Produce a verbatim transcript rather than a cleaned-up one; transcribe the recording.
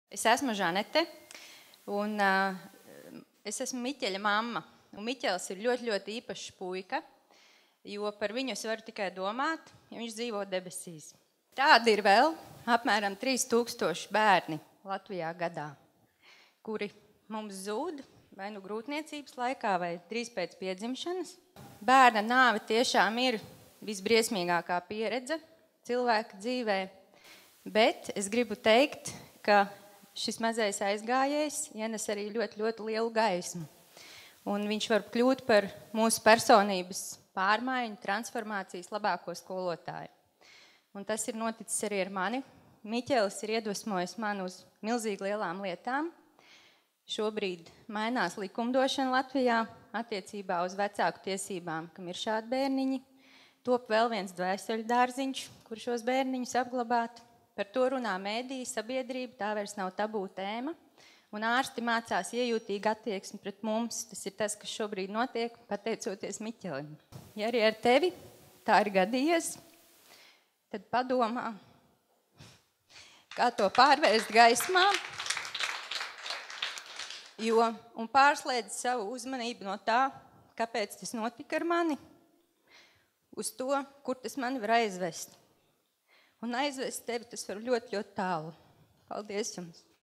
Es esmu Žanete, un uh, es esmu Miķeļa mamma. Un Miķelis ir ļoti, ļoti īpašs puika, jo par viņu es varu tikai domāt, ja viņš dzīvo debesīs. Tādi ir vēl apmēram trīs tūkstoši bērni Latvijā gadā, kuri mums zūd vai nu grūtniecības laikā, vai drīz pēc piedzimšanas. Bērna nāve tiešām ir visbriesmīgākā pieredze cilvēka dzīvē, bet es gribu teikt, ka šis mazais aizgājējs ienes arī ļoti, ļoti lielu gaismu. Un viņš var kļūt par mūsu personības pārmaiņu, transformācijas labāko skolotāju. Un tas ir noticis arī ar mani. Miķelis ir iedvesmojis man uz milzīgi lielām lietām. Šobrīd mainās likumdošana Latvijā attiecībā uz vecāku tiesībām, kam ir šādi bērniņi. Top vēl viens dvēseļu dārziņš, kur šos bērniņus apglabāt. Par to runā mēdī, sabiedrība, tā vairs nav tabū tēma. Un ārsti mācās iejūtīgi attieksmi pret mums. Tas ir tas, kas šobrīd notiek, pateicoties Miķelim. Ja arī ar tevi tā ir gadījies, tad padomā, kā to pārvērst gaismā, jo, un pārslēdz savu uzmanību no tā, kāpēc tas notika ar mani, uz to, kur tas mani var aizvest. Un aizvest tevi tas var ļoti, ļoti tālu. Paldies jums!